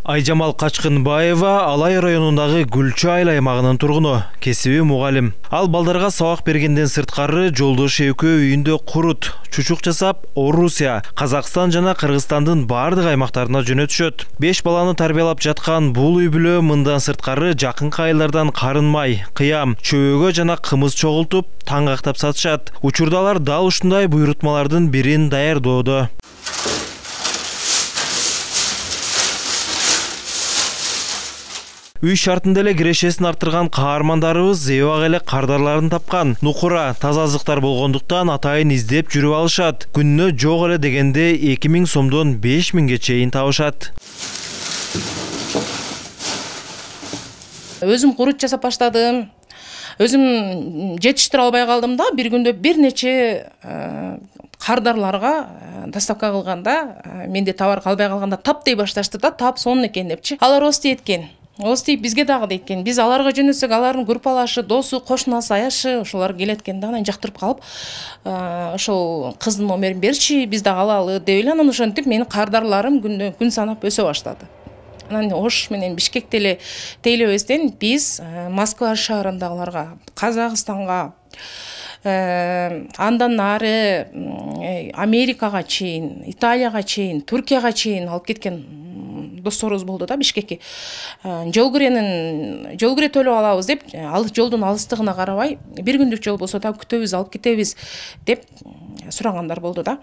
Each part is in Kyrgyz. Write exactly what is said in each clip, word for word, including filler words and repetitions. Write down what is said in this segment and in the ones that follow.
Айжамал Качкынбаева Алай районундагы Гүлчү айыл аймагынын тургуну, кесиби мугалим. Ал балдарга сабак бергенден сырткары жолдошу экөө үйүндө курут, чучук жасап, Орусия, Казакстан жана Кыргызстандын бардык аймактарына жөнөтүшөт. Беш баланы тарбиялап жаткан бул үй бүлө мындан сырткары жакынкы айылдардан карын май, кыям, чөбөгө жана кымыз чогултуп, таң актап сатышат. Учурда алар дал ушундай буйрутмалардын бирин даярдоодо. Үй шартында эле кирешесин арттырган каармандарыбыз эбак эле кардарларын тапкан. Нукура, таза азыктар болгондуктан атайын издеп жүрүп алышат. Күнүнө жок эле дегенде эки миң сомдон беш миңге чейин табышат. Өзүм курут жасап баштадым. Өзүм жетиштире албай калдым да, бир күндө бир нече кардарларга доставка кылганда, менде товар калбай калганда тап дей башташты да, тап сонун экен депчи. Алар ости эткен. Ости бизге дагы дейт экен. Биз аларга жөнөтсөк, алардын группалашы, досу, кошунасы, аяшы, ошолор келет экен да, анан жактырып калып, ошол кыздын номерин берчи, биз дагы алалы деп эле, анан ошентип менин кардарларым күндө күн санап өсө баштады. Анан Ош менен Бишкекте эле тейлебестен биз Москва шаарындагыларга, Казакстанга, андан нары Америкага чейин, Италияга чейин, Туркияга чейин алып кеткен досторубуз болду да, Бишкекке. Жол киренин, жол кире төлөп алабыз деп, ал жолдун алыстыгына карабай, бир күндүк жол болсо да күтөбүз, алып кетебиз деп сурагандар болду да.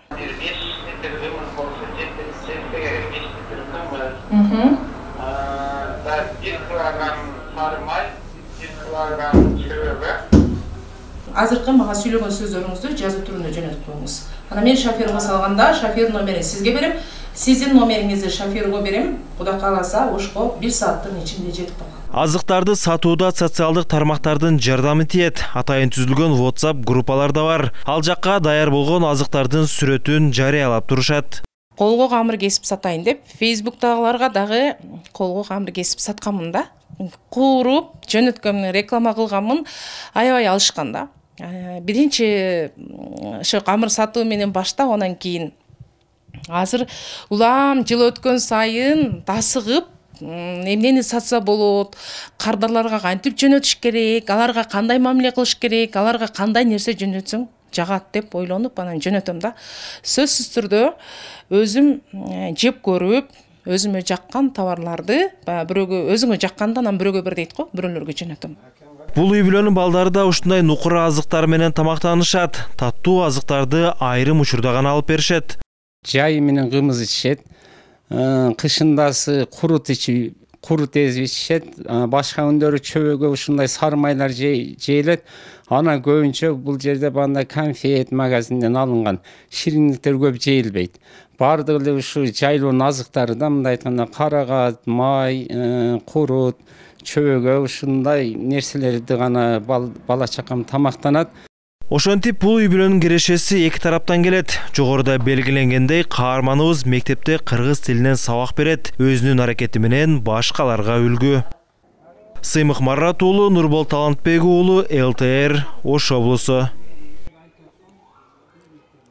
Азыркы мага сүйлөгөн сөздөрүңүздү жазуу түрүндө жөнөтүп коюңуз. Анан мен шоферге салганда шофер номерин сизге берем, сиздин номериңизди шоферге берем. Кудай кааласа, Ошко бир сааттын ичинде жетип калат. Азыктарды сатууда социалдык тармактардын жардамы тиет. Атайын түзүлгөн WhatsApp группалар да бар. Ал жакка даяр болгон азыктардын сүрөтүн жарыялап турушат. Колго камыр кесип сатайын деп, Facebook'тагыларга дагы колго камыр кесип сатканмын да. Куруп, жөнөткөмүн, реклама кылганмын, аябай алышкан да. Биринчи ошо камыр сатуу менен баштап, анан кийин азыр улам жыл өткөн сайын тасыгып, эмнени сатса болот, кардарларга кантип жөнөтүш керек, аларга кандай мамиле кылыш керек, аларга кандай нерсе жөнөтсөң жагат деп ойлонуп анан жөнөтөм да. Сөзсүз түрдө өзүм жеп көрүп, өзүмө жаккан товарларды, бирөөгө өзүңө жакканда анан бирөөгө бер дейт го, бирөөлөргө жөнөтөм. Бул үй бүлөнүн балдары да ушундай нукура азыктар менен тамактанышат. Таттуу азыктарды айрым учурда гана алып беришет. Жайы менен кымыз ичишет, кышындасы курут ичип, курут эзип ичишет, башка күндөрү чөбөгө ушундай сары майлар жейилет. Ана көбүнчө бул жерде бандай конфет магазинден алынган шириндиктер көп жейилбейт. Бардыгы эле ушу жайлоонун азыктары да, мындай айтканда карагат, май, курут, чөбөгө ушундай нерселерди гана бала чакам тамактанат. Ошентип бул үй бүлөнүн кирешеси эки тараптан келет. Жогоруда белгиленгендей, каарманыбыз мектепте кыргыз тилинен сабак берет, өзүнүн аракети менен башкаларга үлгү. Сыймык Марат уулу, Нурбол Талантбек уулу, эл тэ эр, Ош облусу.